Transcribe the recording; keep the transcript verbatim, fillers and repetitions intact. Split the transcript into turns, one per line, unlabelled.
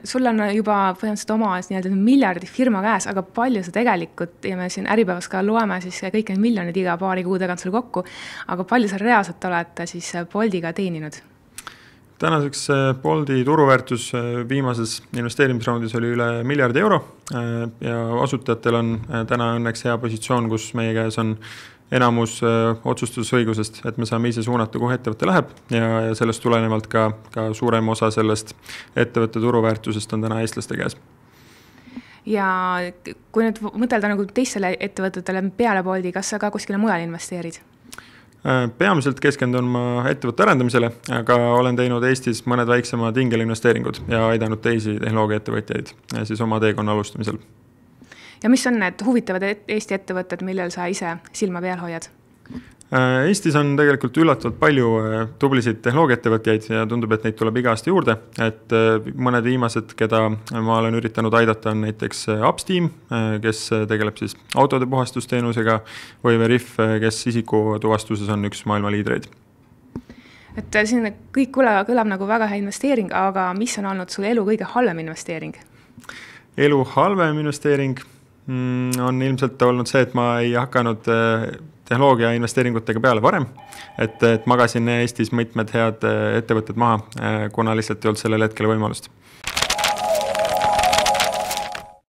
sul on juba põhimõtteliselt oma nii-öelda miljardi firma käes, aga palju sa tegelikult, ja me siin Äripäevas ka loeme siis kõik need miljonid iga paari kuu tagant sul kokku, aga palju sa reaalselt oled siis Boltiga teeninud?
Tänaseks Bolti turuväärtus viimases investeerimisraundis oli üle miljardi euro ja asutajatel on täna õnneks hea positsioon, kus meie käes on enamus otsustusõigusest, et me saame ise suunata, kuhu ettevõte läheb ja, ja sellest tulenevalt ka, ka suurem osa sellest ettevõtte turuväärtusest on täna eestlaste käes.
Ja kui nüüd mõtelda nagu teistele ettevõtetele peale Bolti, kas sa ka kuskile mujal investeerid?
Peamiselt keskendun ma ettevõtte arendamisele, aga olen teinud Eestis mõned väiksemad ingelinvesteeringud ja aidanud teisi tehnoloogiaettevõtjaid siis oma teekonna alustamisel.
Ja mis on need huvitavad Eesti ettevõtted, millel sa ise silma peal hoiad?
Eestis on tegelikult üllatavalt palju tublisid tehnoloogiaettevõtjaid ja tundub, et neid tuleb iga aasta juurde. Et mõned viimased, keda ma olen üritanud aidata, on näiteks Upsteam, kes tegeleb siis autode puhastusteenusega, või Veriff, kes isiku tuvastuses on üks maailma liidreid.
Et siin kõik kõlab, kõlab nagu väga hea investeering, aga mis on olnud sul elu kõige halvem investeering?
Elu halvem investeering on ilmselt olnud see, et ma ei hakanud tehnoloogia investeeringutega peale varem, et, et magasin Eestis mitmed head ettevõtted maha, kuna lihtsalt ei olnud sellel hetkel võimalust.